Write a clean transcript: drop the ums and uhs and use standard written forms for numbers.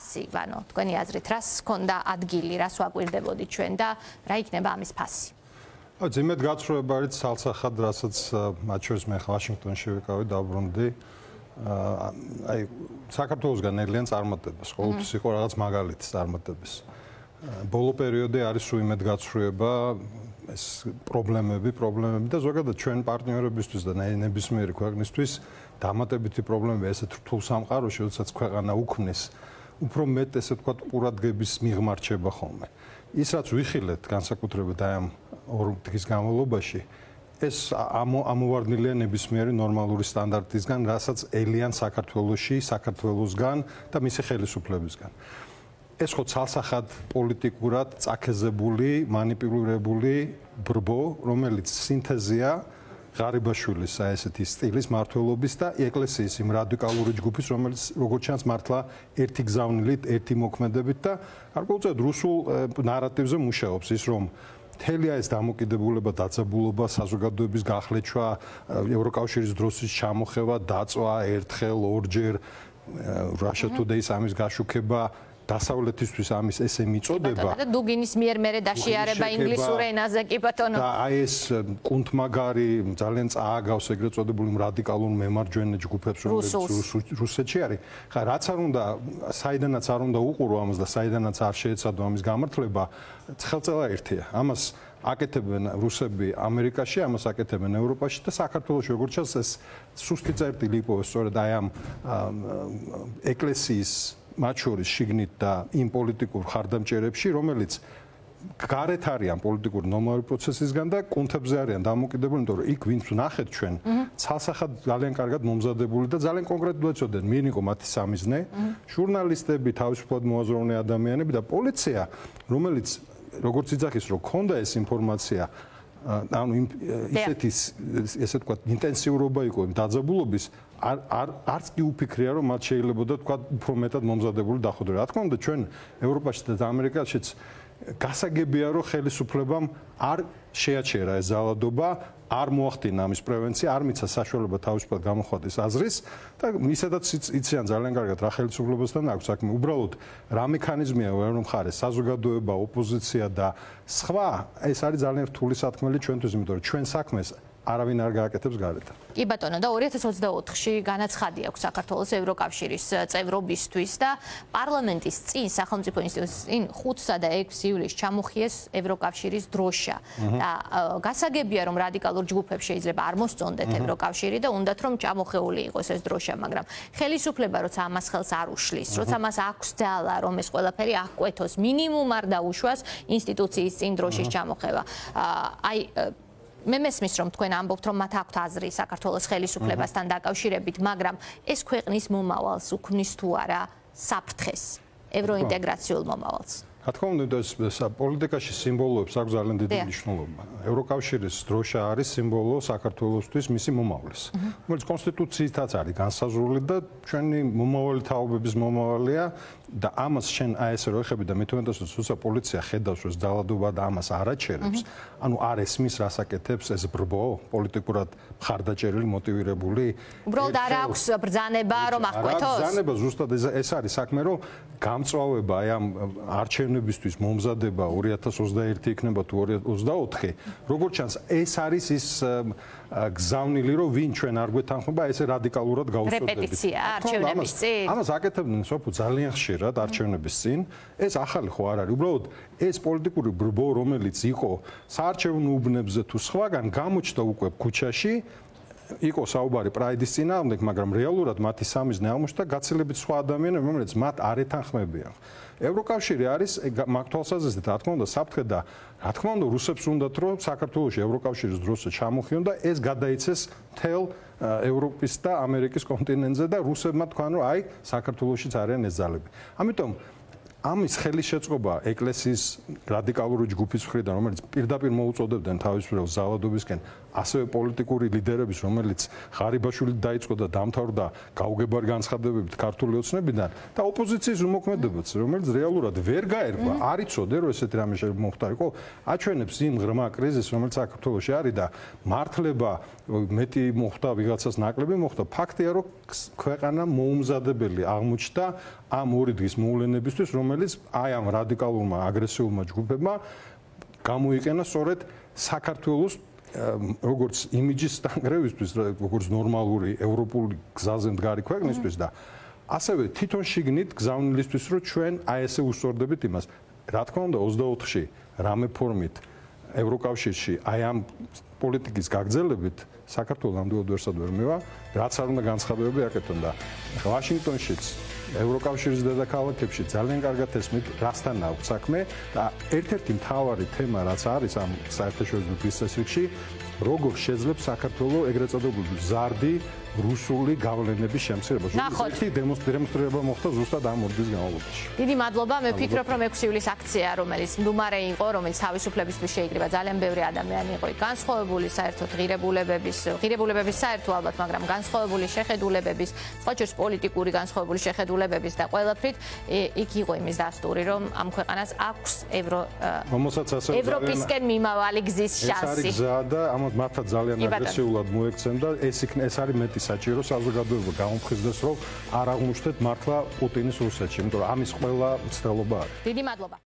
ფასი, ანუ თქვენი აზრით, რას ჰქონდა ადგილი, რას ვაკვირდებოდით ჩვენ და რა იქნება ამის ფასი? ძიმედ გაცხრუება არის ცალსახად, რასაც მათ შორის მე ვაშინგტონში ვიყავი, დაბრუნდი. აი საქართველოსგან ნელიან წარმატებას, ყოველთვის იყო რაღაც მაგალითი წარმატების. ბოლო პერიოდი არის უიმედ გაცხრუება, ეს პრობლემები და ზოგადად ჩვენ პარტნიორებისთვის და ნებისმიერი ქვეყნისთვის დამატებითი პრობლემები ესეთ რთულ სამყაროში, როდესაც ქვეყანა უქმნის, უფრო მეტ ესე ვთქვათ ყურადღების მიღმა რჩება ხოლმე. ის რაც ვიხილეთ განსაკუთრებით აი ამ ორ დღის განმავლობაში ეს ამოვარდნილია ნებისმიერი ნორმალური სტანდარტისგან, რასაც ელიან საქართველოსგან და მისი ხელისუფლებისგან. ეს ხო ცალსახად პოლიტიკურად წაქეზებული, მანიპულირებული ბრბო, რომელიც სინთეზია ღარიბაშვილის ესეთი სტილის მმართველობის და ეკლესიის იმ რადიკალური ჯგუფის, რომელიც როგორც ჩანს მართლა ერთი გზავნილით, ერთი მოქმედებით და გარკვეულწილად რუსულ ნარატივზე მუშაობს ის, რომ მთელი ეს დამოკიდებულება, დაძაბულობა, საზოგადოების გახლეჩვა, ევროკავშირის დროშის ჩამოხევა, დაწვა ერთხელ, ორჯერ, Russia Today-ის ამის გაშუქება, დასავლეთისთვის ამის ესე მიწოდება და დუგინის მიერ მერე დაშიარება ინგლისურ ენაზე კი ბატონო და აი ეს კუნთმაგარი ძალიან წააგავს ეგრეთ წოდებული რადიკალურ მემარჯვენე ჯგუფებს რომელიც რუსეთში არის. ხა რაც არ უნდა საიდანაც არ უნდა უყურო ამას და საიდანაც არ შეეცადო ამის გამართლება, ხელწელა ერთია. ამას აკეთებენ რუსები ამერიკაში, ამას აკეთებენ ევროპაში და საქართველოში როგორც ჩანს ეს სუსტი წერტილი იყო სწორედ აი ამ ეკლესიის მათ შორის შიგნით და იმ პოლიტიკურ ხარდამჭერებში, რომელიც გარეთ არიან პოლიტიკური ნორმალური პროცესისგან და კუნთებზე არიან დამოკიდებული, იმიტომ რომ იქ ვინც ვნახეთ ჩვენ, ცალსახად ძალიან კარგად მომზადებული და ძალიან კონკრეტულად იცოდნენ, მიენ იყო მათი სამიზნე, ჟურნალისტები, თავისუფლად მოაზროვნე ადამიანები და პოლიცია, რომელიც როგორც იძახის, რომ ქონდა ეს ინფორმაცია, ანუ ისეთი ესე ვთქვათ, ინტენსიურობა იყო იმ დაძაბულობის არც კი უფიქრია რომ მათ შეიძლება და თქვა უფრო მეტად მომზადებული დახვდრა. რა თქმა უნდა ჩვენ ევროპაში და ამერიკაშიც გასაგებია რომ ხელისუფლებამ არ შეაჩერა ეს ზალადობა, არ მოახდინა ამის პრევენცია, არ მიცა საშუალება თავისუფლად გამოხატვის აზრის და ისედაც იციან ძალიან კარგად რა ხელისუფლებასთან აქვს საქმე. უბრალოდ რა მექანიზმია ვერ მხარეს საზოგადოება, ოპოზიცია და სხვა ეს არის ძალიან რთული სათქმელი ჩვენთვის, იმიტომ რომ ჩვენ საქმეს არავინ არ გააკეთებს გარეთ. კი ბატონო და 2024-ში განაცხადი აქვს საქართველოს ევროკავშირის წევრობისთვის და პარლამენტის წინ სახელმწიფო ინსტიტუტის წინ 5-სა და 6 ივლისს ჩამოხიეს ევროკავშირის დროშა და გასაგებია რომ რადიკალურ ჯგუფებს შეიძლება არ მოსწონდეთ ევროკავშირი და უნდათ რომ ჩამოხეული იყოს ეს დროშა, მაგრამ ხელისუფლება როცა ამას ხელს არ უშლის, როცა მას აქვს ძალა რომ ეს ყველაფერი აღკვეთოს, მინიმუმ არ დაუშვას ინსტიტუციის წინ დროშის ჩამოხევა. აი მე მესმის რომ თქვენ ამბობთ რომ მათ აქვთ აზრი საქართველოს ხელისუფლებასთან დაკავშირებით, მაგრამ ეს ქვეყნის მომავალს უქმნის თუ არა საფრთხეს, ევროინტეგრაციულ მომავალს? რა თქმა უნდა, ეს პოლიტიკაში სიმბოლოებს აქვს ძალიან დიდი მნიშვნელობა. ევროკავშირის დროშა არის სიმბოლო საქართველოსთვის მისი მომავლის, რომელიც კონსტიტუციითაც არის განსაზღვრული და ჩვენი მომავალი თაობების მომავალია და ამას შენ აი ესე რო ეხები და მეთქმეტეს როცა პოლიცია ხედავს ეს ძალადობა და ამას არ აჩერებს, ანუ არ ესმის რას აკეთებს ეს ბრბო, პოლიტიკურად მხარდაჭერილი, მოტივირებული. უბრალოდ არ აქვს ბრძანება რომ აღკვეთოს? ბრძანება ზუსტად ეს არის საქმე, რომ გამწვავება აი ამ არჩევნებისთვის მომზადება 2021 იქნება თუ 2024, როგორც ჩანს ეს არის ის გზავნილი რომ ვინ ჩვენ არ გვეთანხმება ესე რადიკალურად გავუსწორდებით. რეპეტიცია არჩევნების წინ. ამას აკეთებდნენ სოფუ ძალიან ხშირად არჩევნების წინ. ეს ახალი ხო არ არის. უბრალოდ ეს პოლიტიკური ბრბო, რომელიც იყო საარჩევნო უბნებზე თუ სხვაგან გამოჩნდა უკვე ქუჩაში, იყო საუბარი პრაიდის წინააღმდეგ, მაგრამ რეალურად მათი სამიზნე აღმოჩნდა გაცილებით სხვა ადამიანები, რომელიც მათ არ ეთანხმებიან. ევროკავშირი არის მაგ თვალსაზრისით, რა თქმა უნდა, საფრთხე და რა თქმა უნდა, რუსებს უნდათ რომ საქართველოში ევროკავშირის დროშა ჩამოხიონ და ეს გადაიცეს მთელ ევროპის და ამერიკის კონტინენტზე და რუსებმა თქვან რომ აი საქართველოშიც არიან ეს ძალები. ამიტომ ამის ხელისშეწყობა ეკლესიის რადიკალური ჯგუფის მხრიდან, რომელიც პირდაპირ მოუწოდებდნენ თავისუფლ ზავადობისკენ, ასევე პოლიტიკური ლიდერების, რომელიც ღარიბაშვილი დაიწყო და დამთავრდა გაუგებარი განცხადებებით ქართული ოცნებიდან და ოპოზიციის უმოქმედებაც, რომელიც რეალურად ვერ გაერგვა, არ იცოდე რომ ესეთი რამე მოხდარიყო, აჩვენებს იმ ღრმა კრიზისს, რომელიც საქართველოში არის და მართლება მეტი მოხდა, ვიღაცას ნაკლები მოხდა, ფაქტია რომ ქვეყანა მოუმზადებელი აღმოჩნდა ამ ორი დღის მოვლენებისთვის, რომელიც აი ამ რადიკალურმა აგრესიულმა ჯგუფებმა გამოიყენა სწორედ საქართველოს როგორც იმიჯის სტანგრევისთვის, როგორც ნორმალური ევროპული გზაზე მდგარი ქვეყნისთვის და ასევე თვითონ შიგნით გზავნილისთვის, რომ ჩვენ აი ესე უსწორდებით იმას. რა თქმა უნდა 24-ში რამე ფორმით ევროკავშირში აი ამ პოლიტიკის გაგრძელებით საქართველოს ნამდვილად ვერსად ვერ მივა, რაც არ უნდა განცხადებები აკეთონ და ვაშინგტონშიც ევროკავშირის დედაქალაქებში ძალიან კარგად ესმით, რასთან აქვს საქმე და ერთ-ერთი მთავარი თემა, რაც არის ამ საერთაშორისო დისკუსიაში, როგორ შეძლებს საქართველოს ეგრეთ წოდებული ზარდი რუსული გავლენების შემცირებას. ნახოთ. დემონსტრირება მოხდა ზუსტად ამ ორ დღის განმავლობაში. დიდი მადლობა. მე ვფიქრობ, რომ 6 ივლისის აქცია, რომელიც მდუმარე იყო, რომელიც თავისუფლებისთვის შეიკრიბა, ძალიან ბევრი ადამიანი იყო განსხვავებული საერთოდ ღირებულებების საერთო ალბათ, მაგრამ განსხვავებული შეხედულებების, სხვაჯერს პოლიტიკური განსხვავებული შეხედულებების და ყველაფრით იქ იყო იმის დასტური, რომ ამ ქვეყანას აქვს ევროპისკენ მიმავალი გზის შანსი. ეს არის გზა და ამათ მართლა ძალიან აგრესიულად მოექცენ და ეს არის მეტი საჭირო საზოგადოება გამოფხიზდეს, რომ არ აღმოჩნდეთ მართლა პუტინის რუსეთში, იმიტომ რომ ამის ყველა მცდელობა არის. დიდი მადლობა.